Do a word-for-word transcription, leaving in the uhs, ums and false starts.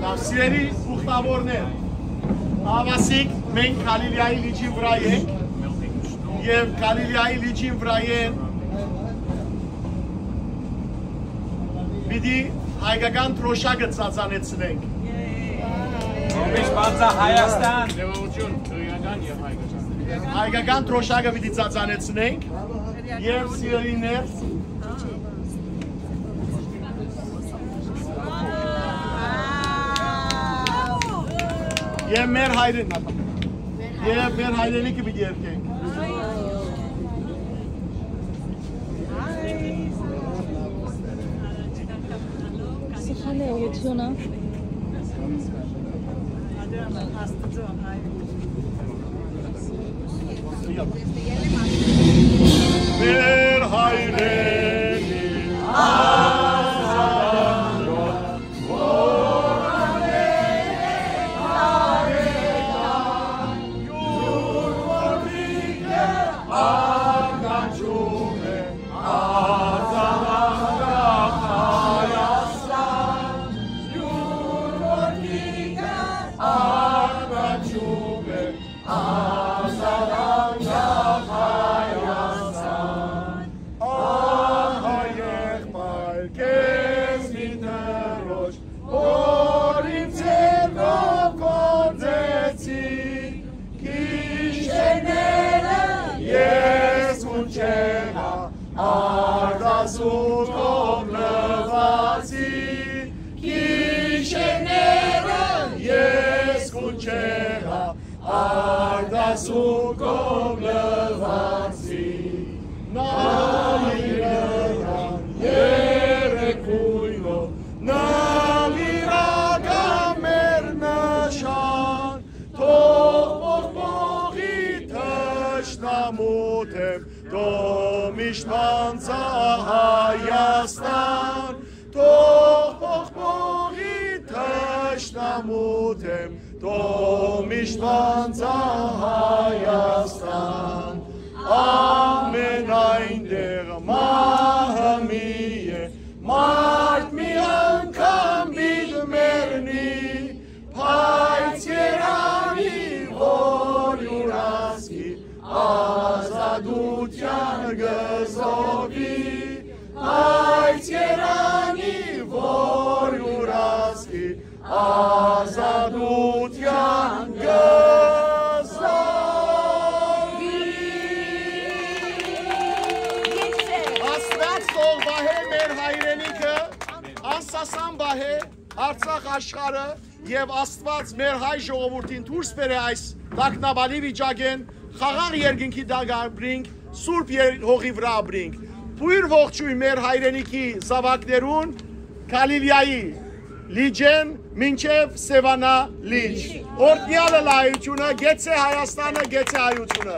Սիրելի ուխտավորներ, ահա ասիկա մենք Գալիլեայի լիճին վրայ ենք, եւ Գալիլեայի լիճին վրայ են պիտի հայկական դրոշակը ծածանեցնենք։ Միշտ Հայաստան։ Հայկական դրոշակը պիտի ծածանեցնենք, եւ սիրելիներ, եւ մեր հայրեն, եւ մեր հայրենիքը պիտի երգենք։ Սխալ է ուղղությունը։ Մեր հայրենի Ահա եղբայր քեզնի Տիրոջ, որ ինձ ձեռնով գործեցի, գիշերները ես կունչեղայ արտասուքով լուացի, գիշերները ես կունչեղայ արտասուքով լուացի, նայ իրական երեկ գոյնով, նայ իրական մեր նշան, թող պողպողի թշնամու դէմ, թող միշտ պանծայ Հայաստան, թող պողպողի թշնամու դէմ, թող միշտ պանծայ Հայաստան։ Ամենայն դեղ մահը մի է, մարդ մի անգամ պիտի մեռնի, բայց երանի, որ իւր ազգի ազատութեան կը զոհուի, բայց երանի, որ իւր ազգի ազատութեան կը զոհուի։ Աստուած թող պահէ մեր հայրենիքը, անսասան պահէ Արցախ աշխարհը, եւ Աստուած մեր հայ ժողովուրդին դուրս բերէ այս տագնապալի վիճակէն, խաղաղ երկնքի տակ ապրինք, սուրբ եր-, հողի վրայ ապրինք։ Բոյր ողջոյն մեր հայրենիքի զաւակներուն, Գալիլեայի լիճէն մինչեւ Սեւանա լիճ։ Օրհնեալը լայությունը, գեցե Հայաստանը, գեցե հայությունը։